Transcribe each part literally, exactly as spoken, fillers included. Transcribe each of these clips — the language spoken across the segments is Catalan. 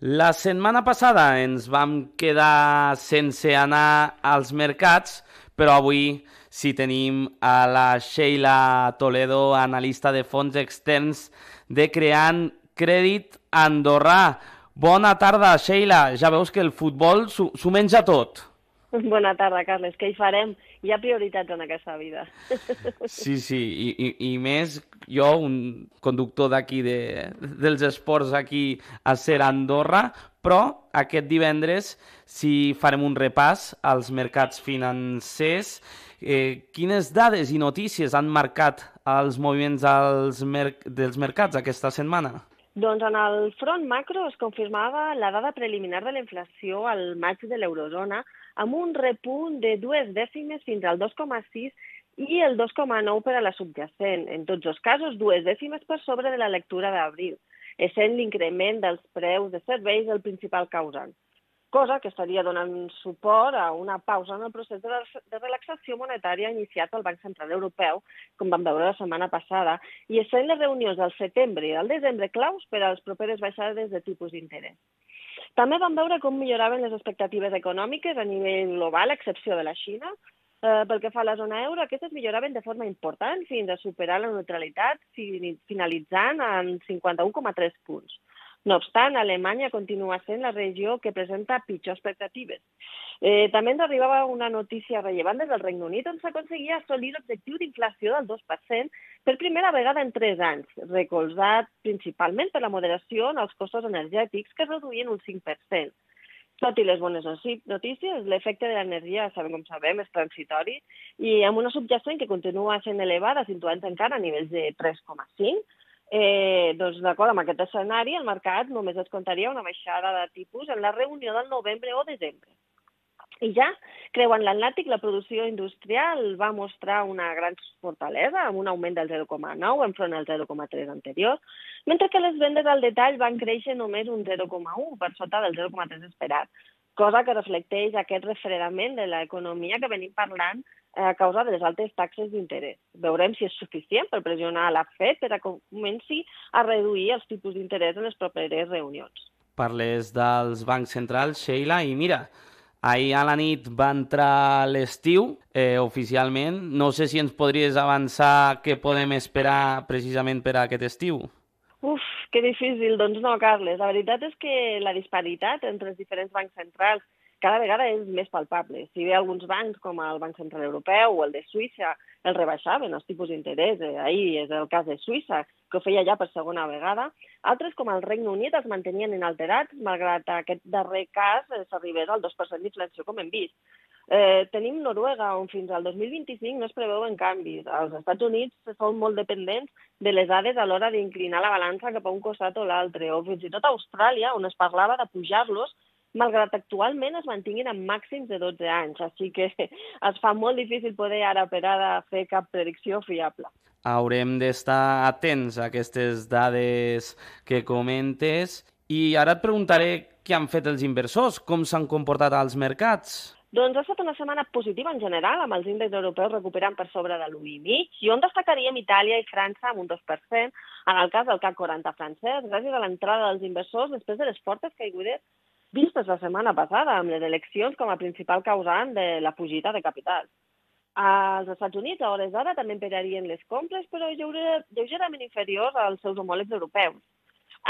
La setmana passada ens vam quedar sense anar als mercats, però avui sí tenim a la Sheila Toledo, analista de fons externs de Creant Crèdit Andorrà. Bona tarda, Sheila. Ja veus que el futbol s'ho menja tot. Bona tarda, Carles. Què hi farem? Hi ha prioritats en aquesta vida. Sí, sí, i, i, i més jo, un conductor d'aquí de, dels esports aquí a Ser Andorra, però aquest divendres si farem un repàs als mercats financers. Eh, quines dades i notícies han marcat els moviments als mer dels mercats aquesta setmana? Doncs en el front macro es confirmava la dada preliminar de la inflació al maig de l'eurozona amb un repunt de dues dècimes fins al dos coma sis i el dos coma nou per a la subjacent. En tots els casos, dues dècimes per sobre de la lectura d'abril, essent l'increment dels preus de serveis el principal causant, cosa que estaria donant suport a una pausa en el procés de relaxació monetària iniciat pel Banc Central Europeu, com vam veure la setmana passada, i essent les reunions del setembre i del desembre claus per a les properes baixades de tipus d'interès. També vam veure com milloraven les expectatives econòmiques a nivell global, a excepció de la Xina. Eh, pel que fa a la zona euro, aquestes milloraven de forma important fins a superar la neutralitat, finalitzant en cinquanta un coma tres punts. No obstant, Alemanya continua sent la regió que presenta pitjors expectatives. Eh, també ens arribava una notícia rellevant des del Regne Unit, on s'aconseguia assolir l'objectiu d'inflació del dos per cent per primera vegada en tres anys, recolzat principalment per la moderació en els costos energètics, que es reduïen un cinc per cent. Tot i les bones notícies, l'efecte de l'energia, sabem com sabem, és transitori, i amb una subjacent que continua sent elevada, situant encara a nivells de tres coma cinc, Eh, doncs d'acord amb aquest escenari, el mercat només es comptaria una baixada de tipus en la reunió del novembre o desembre. I ja, creuant l'Atlàntic, la producció industrial va mostrar una gran fortalesa, amb un augment del zero coma nou enfront al zero coma tres anterior, mentre que les vendes al detall van créixer només un zero coma u per sota del zero coma tres esperat, cosa que reflecteix aquest refredament de l'economia que venim parlant a causa de les altes taxes d'interès. Veurem si és suficient per pressionar la Fed per a que comenci a reduir els tipus d'interès en les properes reunions. Parles dels bancs centrals, Sheila, i mira, ahir a la nit va entrar l'estiu, eh, oficialment. No sé si ens podries avançar què podem esperar precisament per a aquest estiu. Uf, que difícil. Doncs no, Carles. La veritat és que la disparitat entre els diferents bancs centrals cada vegada és més palpable. Si bé alguns bancs, com el Banc Central Europeu o el de Suïssa, els rebaixaven els tipus d'interès, eh, ahir és el cas de Suïssa, que ho feia ja per segona vegada, altres, com el Regne Unit, els mantenien inalterats, malgrat aquest darrer cas eh, s'arribés al dos per cent d'inflació, com hem vist. Eh, tenim Noruega, on fins al dos mil vint-i-cinc no es preveuen canvis. Els Estats Units són molt dependents de les dades a l'hora d'inclinar la balança cap a un costat o l'altre, o fins i tot a Austràlia, on es parlava de pujar-los, malgrat actualment es mantinguin en màxims de dotze anys. Així que es fa molt difícil poder ara per ara fer cap predicció fiable. Haurem d'estar atents a aquestes dades que comentes. I ara et preguntaré què han fet els inversors, com s'han comportat als mercats. Doncs ha estat una setmana positiva en general, amb els índexs europeus recuperant per sobre de l'u i mig, i on destacaríem Itàlia i França amb un dos per cent, en el cas del C A C quaranta francès, gràcies a l'entrada dels inversors després de les fortes caigudes vistes la setmana passada, amb les eleccions com a principal causant de la fugida de capital. Als Estats Units, a hores d'ara, també emperarien les compres, però lleugerament inferiors als seus homòlegs europeus.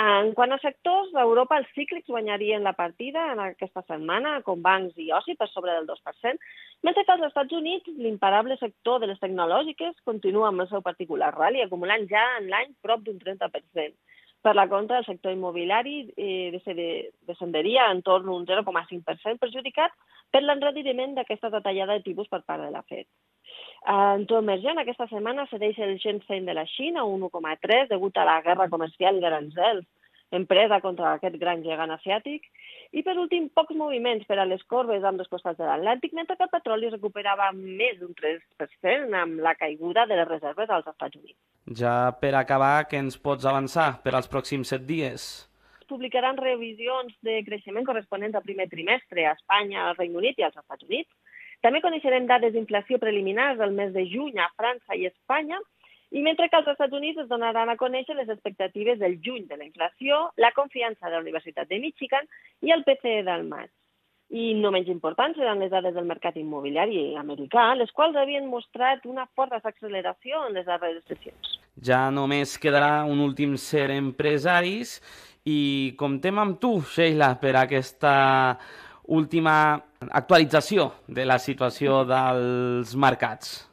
En quant a sectors, a Europa els cíclics guanyarien la partida en aquesta setmana, com bancs i oci per sobre del dos per cent, mentre que als Estats Units l'imparable sector de les tecnològiques continua amb el seu particular rally, acumulant ja en l'any prop d'un trenta per cent. Per la contra, el sector immobiliari eh, descenderia en torn un zero coma cinc per cent, perjudicat per l'enrediriment d'aquesta detallada de tipus per part de la Fed. En to emergent, aquesta setmana cedeix el Shenzhen de la Xina, un u coma tres, degut a la guerra comercial d'aranzels empresa contra aquest gran gegant asiàtic. I, per últim, pocs moviments per a les corbes amb dos costats de l'Atlàntic, mentre que el petroli recuperava més d'un tres per cent amb la caiguda de les reserves als Estats Units. Ja per acabar, què ens pots avançar per als pròxims set dies? Publicaran revisions de creixement corresponents al primer trimestre a Espanya, al Regne Unit i als Estats Units. També coneixerem dades d'inflació preliminars del mes de juny a França i Espanya I mentre que als Estats Units es donaran a conèixer les expectatives del juny de la inflació, la confiança de la Universitat de Michigan i el P C E del maig. I no menys importants seran les dades del mercat immobiliari americà, les quals havien mostrat una forta acceleració en les darreres sessions. Ja només quedarà un últim ser empresaris i comptem amb tu, Sheila, per aquesta última actualització de la situació dels mercats.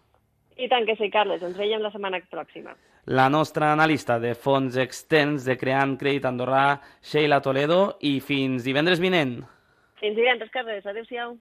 I tant que sí, Carles. Ens veiem la setmana pròxima. La nostra analista de fons externs de Creant Crèdit Andorrà, Sheila Toledo, i fins divendres vinent. Fins divendres, Carles. Adéu-siau.